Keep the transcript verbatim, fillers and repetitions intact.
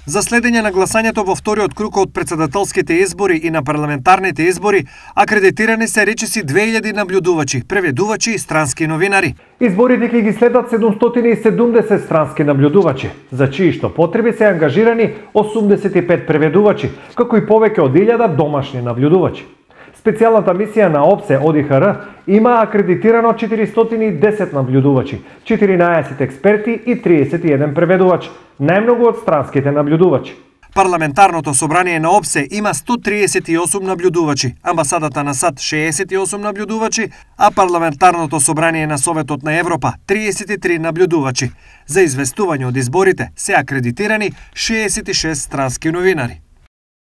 За следење на гласањето во вториот круг од претседателските избори и на парламентарните избори, акредитирани се речиси две илјади наблюдувачи, преведувачи и странски новинари. Изборите ќе ги следат седумстотини и седумдесет странски наблюдувачи, за чии што потреби се ангажирани осумдесет и пет преведувачи, како и повеќе од илјада домашни наблюдувачи. Специјалната мисија на ОПСЕ ОДИХР има акредитирано четиристотини и десет наблюдувачи, четиринаесет експерти и триесет и еден преведувач, најмногу од странските наблюдувачи. Парламентарното собрание на ОПСЕ има сто триесет и осум наблюдувачи, амбасадата на САД шеесет и осум наблюдувачи, а парламентарното собрание на Советот на Европа триесет и три наблюдувачи. За известување од изборите се акредитирани шеесет и шест странски новинари.